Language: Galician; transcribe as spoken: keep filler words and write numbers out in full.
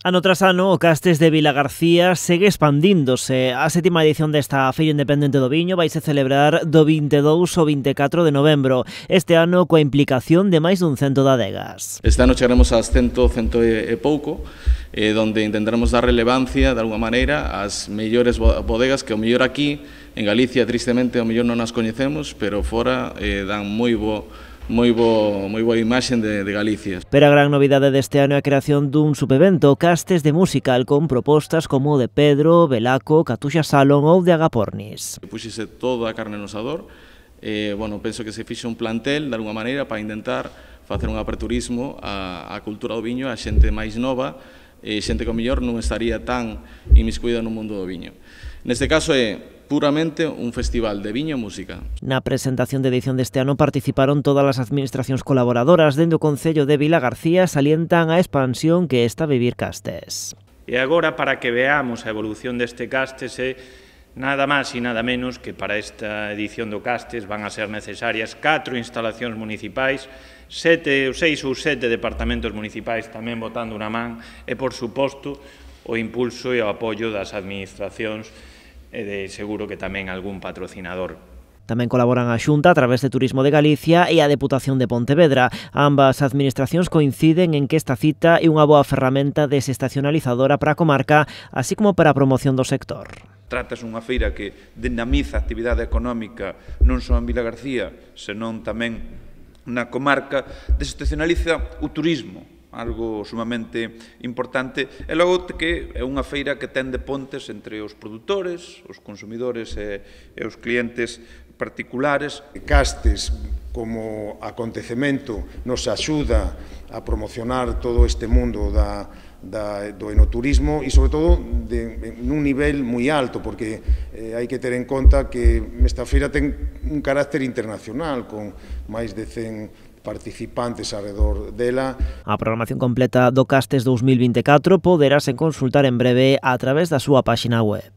Ano tras ano, o Castes de Vilagarcía segue expandíndose. A sétima edición desta Feira Independente do Viño vaise celebrar do vinte e dous ao vinte e catro de novembro. Este ano coa implicación de máis dun cento de adegas. Este ano chegaremos ás cento, cento e pouco, eh, donde intentaremos dar relevancia, de alguma maneira, ás mellores bodegas que o mellor aquí, en Galicia, tristemente, o mellor non as coñecemos, pero fora eh, dan moi bo moi bo, moi boa imaxe de, de Galicia. Pero a gran novidade deste ano é a creación dun subevento, Castes de Musical, con propostas como o de Pedro, Belaco, Catuxa Salón ou de Agapornis. Puxese toda a carne no asador, eh, bueno, penso que se fixe un plantel, de alguma maneira, para intentar facer un aperturismo á, á cultura do viño, a xente máis nova, e xente que o mellor non estaría tan inmiscuída no mundo do viño. Neste caso é puramente un festival de viño e música. Na presentación de edición deste ano participaron todas as administracións colaboradoras. Dende o Concello de Vilagarcía salientan a expansión que está a vivir Castes. E agora, para que veamos a evolución deste Castes, é nada máis e nada menos que para esta edición do Castes van a ser necesarias catro instalacións municipais, sete, seis ou sete departamentos municipais tamén botando unha man e, por suposto, o impulso e o apoio das administracións e de seguro que tamén algún patrocinador. Tamén colaboran a Xunta a través de Turismo de Galicia e a Deputación de Pontevedra. Ambas administracións coinciden en que esta cita é unha boa ferramenta desestacionalizadora para a comarca, así como para a promoción do sector. Trátase unha feira que dinamiza a actividade económica non só en Vilagarcía, senón tamén na comarca, desestacionaliza o turismo, algo sumamente importante, e logo que é unha feira que ten de pontes entre os produtores, os consumidores e, e os clientes particulares. Castes, como acontecemento, nos axuda a promocionar todo este mundo da, da, do enoturismo e, sobre todo, de, nun nivel moi alto, porque eh, hai que ter en conta que esta feira ten un carácter internacional, con máis de cen participantes alrededor dela. A programación completa do Castes dous mil vinte e catro poderase consultar en breve a través da súa páxina web.